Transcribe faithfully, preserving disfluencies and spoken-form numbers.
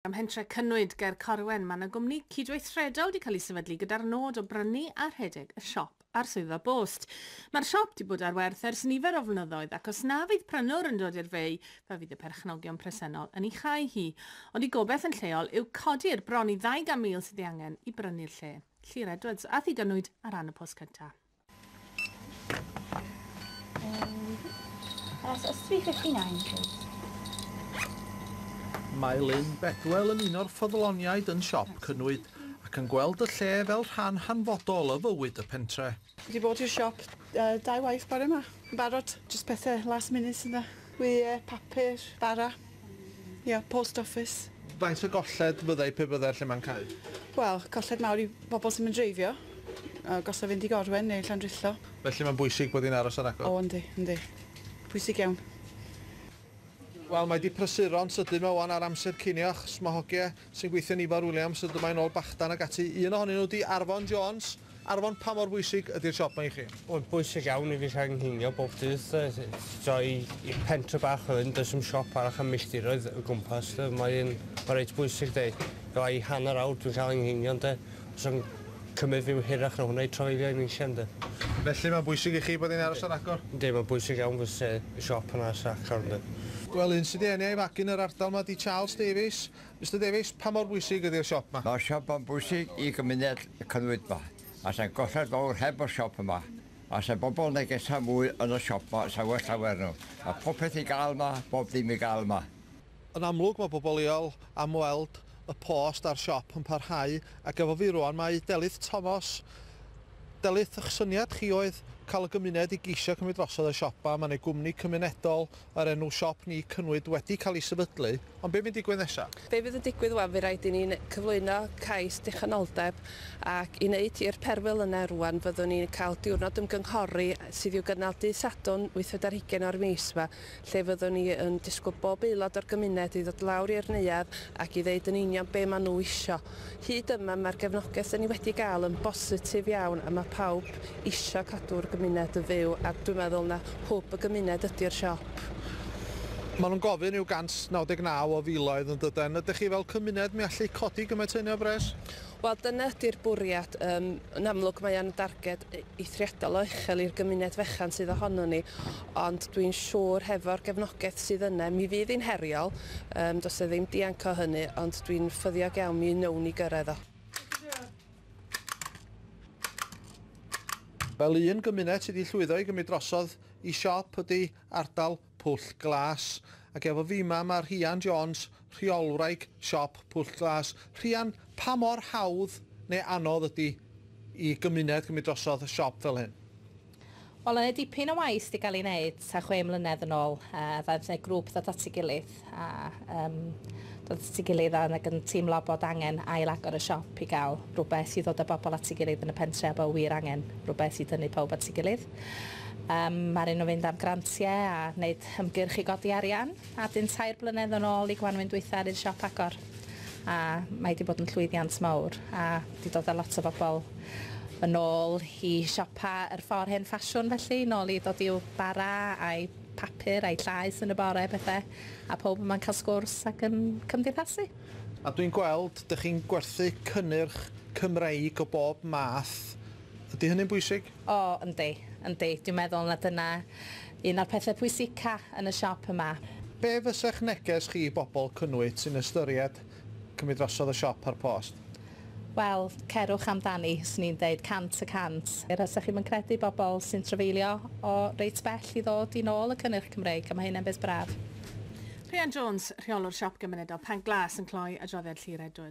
Ym mhentre Cynwyd ger Corwen, mae yna gwmni cydweithredol wedi cael ei sefydlu gyda'r nod o brynu a rhedeg y siop a'r swyddfa bost. Mae'r siop wedi bod ar werth ers nifer o flynyddoedd ac os na fydd prynwr yn dod i'r fei, fe fydd y perchnogion presennol yn ei chau hi. Ond ei gobaith yn lleol yw codi'r bron i ddau gan mil sydd ei angen i brynu'r lle. Llyr Edwards ath i Gynwyd ar ran y Post Cyntaf. Um, that's three fifty-nine, please. Mae Lynn Bedwell yn un o'r ffyddloniaid yn siop Cynwyd ac yn gweld y lle fel rhan hanfodol o fywyd y pentre. Wedi bod i'r siop uh, dau waith bore yma. Yn barod, just pethau last minute yna. Wyau, papur, bara. Ia, yeah, post office. Faint o golled fyddai pe byddai'r lle ma'n cau? Wel, colled mawr i bobl sy'n mynd dreifio. Uh, Gosa fynd i Gorwen neu Llandrillo. Felly mae'n bwysig bod hi'n aros ar agor? O, yndi, yndi. Pwysig iawn. Wel, mae di prysuro'n sydyn yma wan ar amser cinio, achos mae hogiau sy'n gweithio yn Ifor Williams yn dod ôl bachdan ac ati. Un ohonyn nhw di Arfon Jones. Arfon, pa mor bwysig ydy'r siop yma i chi? Wel, bwysig iawn i fi cael nghinio bob dydd. So, i, i pentre bach o hyn, does dim siop arall am milltiroedd o gwmpas. Mae'n ma reit bwysig, de. Fel i hanner awr dwi'n cael nghinio, de. Os o'n cymryd fi hirach na hwnna i trafeilio i'n eisiau, de. Felly mae'n bwysig i chi bod hi'n aros ar agor? Yndi, mae'n bwysig iawn fysa y siop yn aros ar agor, de. Wel, un sydd wedi eni a'i fagu yn yr ardal yma di Charles Davies. Mister Davies, pa mor bwysig ydy'r siop yma? Mae'r siop yn bwysig i gymuned Cynwyd yma. A sa'n golled fawr heb o'r siop yma. A sa'n bobl negesa mwy yn y siop yma, sa'n well llawer nhw. A popeth i gael yma, bob ddim i gael yma. Yn amlwg mae bobl leol am weld y post a'r siop yn parhau, ac efo fi rwan mae Delyth Thomas. Delyth, eich syniad chi oedd cael y gymuned i geisio cymryd drosodd y siop yma. Mae'n ei gwmni cymunedol o'r enw Siop Ni Cynwyd wedi cael ei sefydlu, ond be fydd digwydd nesaf? Be fydd yn digwydd wan, fe rhaid i ni'n cyflwyno cais dichonoldeb ac i wneud i'r perwyl yna rwan fyddwn ni'n cael diwrnod ymgynghori sydd i'w gynnal dydd Sadwrn wythfed ar hugain o'r mis yma, lle fyddwn ni yn disgwyl bob aelod o'r gymuned i ddod lawr i'r neuadd ac i ddeud yn union be maen nhw isio. Hyd yma mae'r gefnogaeth ni wedi gael yn bositif iawn a mae pawb isio cadw'r gymuned yn fyw a dwi'n meddwl na hwb y gymuned ydy'r siop. Maen nhw'n gofyn i'w gant naw deg naw o filoedd yn dydyn. Ydych chi fel cymuned mi allu codi gymaint hynny o bres? Wel, dyna ydy'r bwriad. Um, yn amlwg mae o'n darged eithriadol o uchel i'r gymuned fechan sydd ohono ni, ond dwi'n siŵr hefo'r gefnogaeth sydd yna, mi fydd hi'n heriol, um, does e ddim dianc o hynny, ond dwi'n ffyddiog iawn mi wnawn ni gyrraedd o. Fel un gymuned sydd wedi llwyddo i gymryd drosodd i siop ydy ardal Pwll Glas. Ac efo fi yma mae Rhian Jones, rheolwraig siop Pwll Glas. Rhian, pa mor hawdd neu anodd ydy i gymuned gymryd drosodd y siop fel hyn? Wel, yna dipyn o waith wedi cael ei wneud ta chwe mlynedd yn ôl. Uh, ddaeth yna grŵp ddod at ei gilydd a um, dod at ei gilydd ac yn teimlo bod angen ail-agor y siop i gael rhywbeth i ddod â bobl at ei gilydd yn y pentre a bod wir angen rhywbeth i dynnu pawb at ei gilydd. Um, Mae'r un o fynd am grantiau a wneud ymgyrch i godi arian a dyn tair blynedd yn ôl i gwanwyn dwytha ar i'r siop agor. A mae wedi bod yn llwyddiant mawr a wedi dod â lot o bobl yn ôl i siopa yr ffordd hen ffasiwn felly, nôl i dod i'w bara a'i papur a'i llaeth yn y bore pethau, a pob yma'n cael sgwrs ac yn cymdeithasu. A dwi'n gweld, dych chi'n gwerthu cynnyrch Cymreig o bob math. Ydy hynny'n bwysig? O, yndi, yndi. Dwi'n meddwl na dyna un o'r pethau pwysica yn y siop yma. Be fysa'ch neges chi i bobl Cynwyd sy'n ystyried cymryd drosodd y siop a'r post? Wel, cerwch amdani, swn i'n deud cant y cant. Er os ydych chi'm yn credu bobl sy'n trafeilio o reit bell i ddod i nôl y cynnyrch Cymreig, a mae hynny'n beth braf. Rhian Jones, rheolwr siop gymunedol Pant Glas yn cloi adroddiad Llyr Edwards.